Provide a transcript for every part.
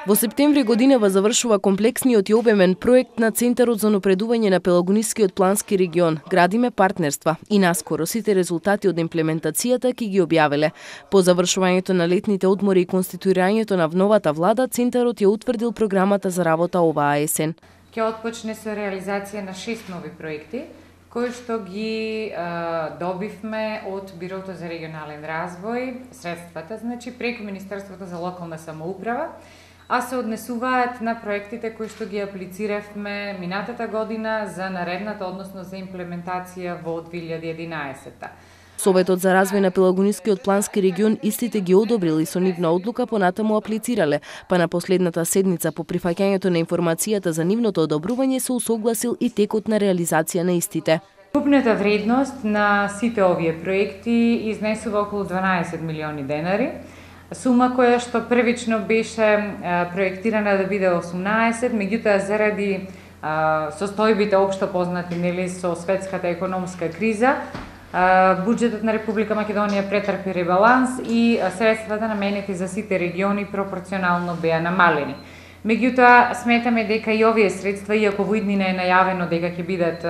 Во септември годинава завршува комплексниот и обемен проект на Центарот за напредување на Пелагонискиот плански регион. Градиме партнерства и наскоро сите резултати од имплементацијата ќе ги објавиле. По завршувањето на летните одмори и конституирањето на новата влада, Центарот ја утврдил програмата за работа оваа есен. Ќе отпочне со реализација на 6 нови проекти, кои што ги добивме од Бирото за регионален развој, средствата, значи преку Министерството за локална самоуправа, а се однесуваат на проектите кои што ги аплициравме минатата година за наредната, односно за имплементација во 2011-та. Советот за развој на Пелагонискиот плански регион истите ги одобрил и со нивна одлука понатаму аплицирале, па на последната седница по прифаќањето на информацијата за нивното одобрување се усогласил и текот на реализација на истите. Купната вредност на сите овие проекти изнесува околу 12 милиони денари, сума која што првично беше проектирана да биде 18, меѓутоа заради состојбите општо познати со светската економска криза, буџетот на Република Македонија претрпи ребаланс и средствата наменети за сите региони пропорционално беа намалени. Меѓутоа, сметаме дека и овие средства, иако во иднина е најавено дека ќе бидат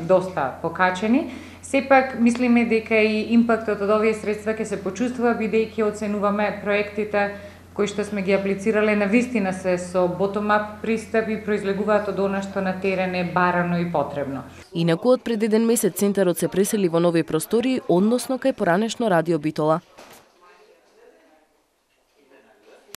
доста покачени, сепак мислиме дека и импактот од овие средства ќе се почувствува бидејќи оценуваме проектите кои што сме ги аплицирале навистина се со bottom-up пристап и произлегуваат од она што на терен е барано и потребно. Инаку од пред еден месец Центарот се пресели во нови простории, односно кај поранешно Радио Битола.